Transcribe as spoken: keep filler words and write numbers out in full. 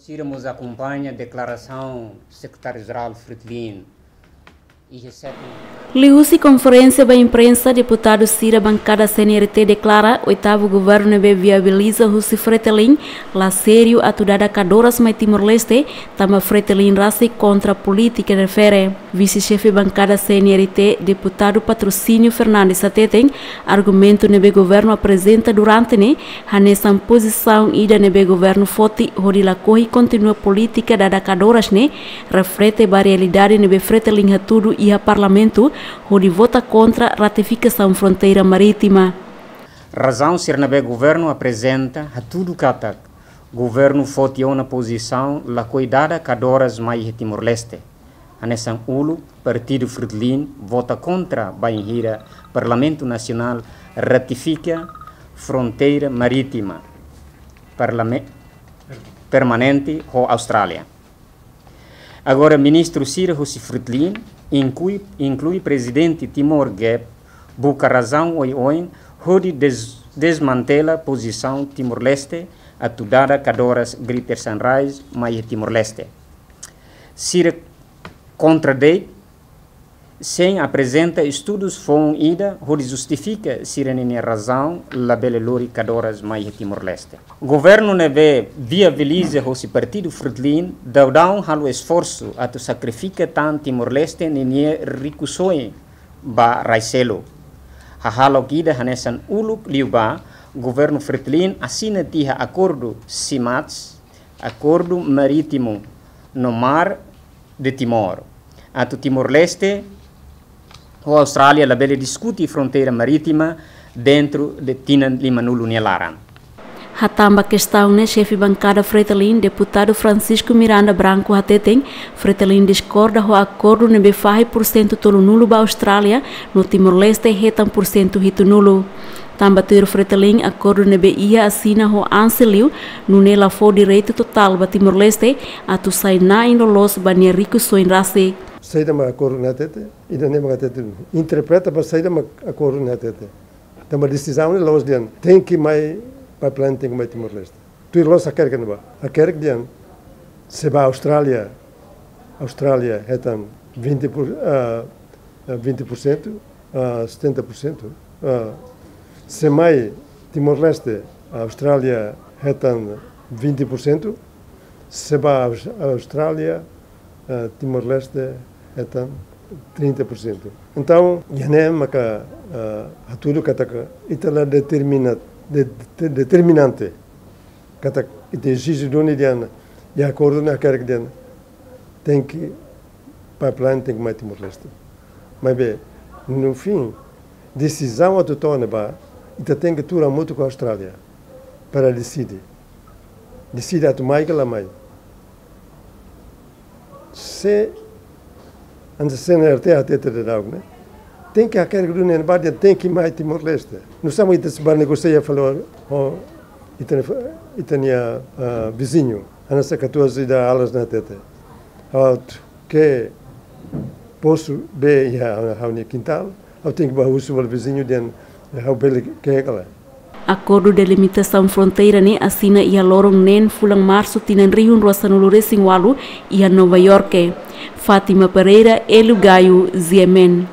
Sira mós akompaña deklarasaun Sekretáriu-Jerál Fretilin iha setting. Liuhusi konferénsia ba imprensa, deputadu sira bankada C N R T deklara oitavu governu ne'ebé viabiliza husi Fretilin la sériu atu dada kadoras mai Timor-Leste, tanba Fretilin rasik kontra polítika refere. Vise-xefe bankada C N R T, deputadu Patrocínio Fernandes hateten, argumentu ne'ebé governu aprezenta durante ne'e hanesan pozisaun ida ne'ebé governu foti hodi lakohi kontinua polítika dada kadoras ne'e reflete ba realidade ne'ebé Fretilin hatudu iha Parlamentu hodi vota kontra ratifikasaun fronteira marítima. Razaun sira ne'ebé governu aprezenta hatudu katak governu foti ona pozisaun lakohi dada kadoras mai iha Timor-Leste. Hanesan uluk, Partidu Fretilin vota kontra bainhira Parlamentu Nasionál ratifika fronteira marítima parlame-, permanente ho Austrália. Agora, ministru sira husi Fretilin, inklui, inklui prezidente Timor Gap, buka razaun oioin hodi des-, desmantela pozisaun Timor-Leste atu dada kadoras Greater Sunrise mai Timor-Leste. Sira kontradei sein aprezenta estudus foun ida hodi justifika sira-ninia razaun labele lori kadoras mai iha Timor-Leste. Governu ne'ebé viabiliza husi Partidu Fretilin daudaun halo esforsu atu sakrifika tan Timor-Leste ninia rikusoin ba rai seluk. Hahalok ida hanesan uluk liubá, governu Fretilin asina tiha akordu CMATS, Akordu Marítimu no Mar de Timor, atu Timor-Leste ho Austrália labele diskute fronteira marítima dentru de tinan limanulu nia laran. Hatán ba kestaun ne'e, xefe bankada Fretilin, deputadu Francisco Miranda Branco hateten, Fretilin diskorda ho akordu ne'ebé fahe pursentu tolunulu ba Austrália, no Timor-Leste hetan pursentu hitunulu. Tanba tuir Fretilin, akordu ne'ebé iha asina ho ANZI liu, nune'e la fó direitu totál ba Timor-Leste atu sai na'in loloos ba nia rikusoin rasik. Saida mak akordu ne'e hatete, ida-ne'e mak hatete. Interpreta ba saida mak akordu ne'e hatete. Tanba desizaun ne'e la'ós dehan tenke mai pipeline, tenke mai Timor-Leste. Tuir loloos hakerek ne'ebá. Hakerek dehan, se ba Austrália, Austrália hetan vinte por, ah, ah, vinte por cento, ah, setenta por cento. Ah, se mai Timor-Leste, Austrália hetan vinte por cento, se ba Aus-, Austrália, ah, Timor-Leste hetan trinta por cento. Entaun, ida-ne'e maka, ah, hatudu katak ita la determina, de, de, determinante. Katak ita ezije duni dehan, iha akordu ne'e hakerek dehan, tenke pipeline, tenke mai Timor-Leste. Maibé, no fim, desizaun atu toma ne'ebá, ita tenke tuur hamutuk ho Austrália para deside. Deside atu mai ka la mai. Se, antes C N R T hatete daudaun ne'e, tenke hakerek duni ne'ebá dehan tenke mai Timor-Leste. Nu'usá mak ita sei bá negosia fali ho ita-nia, ita-nia, ah, viziñu, hanesan katuas ida Alas ne'e hatete. Ha'u ke posu bee iha ha'u-nia kintál, ha'u tenke bá husu ba viziñu dehan ha'u bele ke'e ka lae. Akordu delimitasaun fronteira ne'e asina iha loron neen fulan Marsu tinan rihun rua sanulu resin ualu iha Nova Iorke. Fátima Pereira, Hélio Gaio, G M N.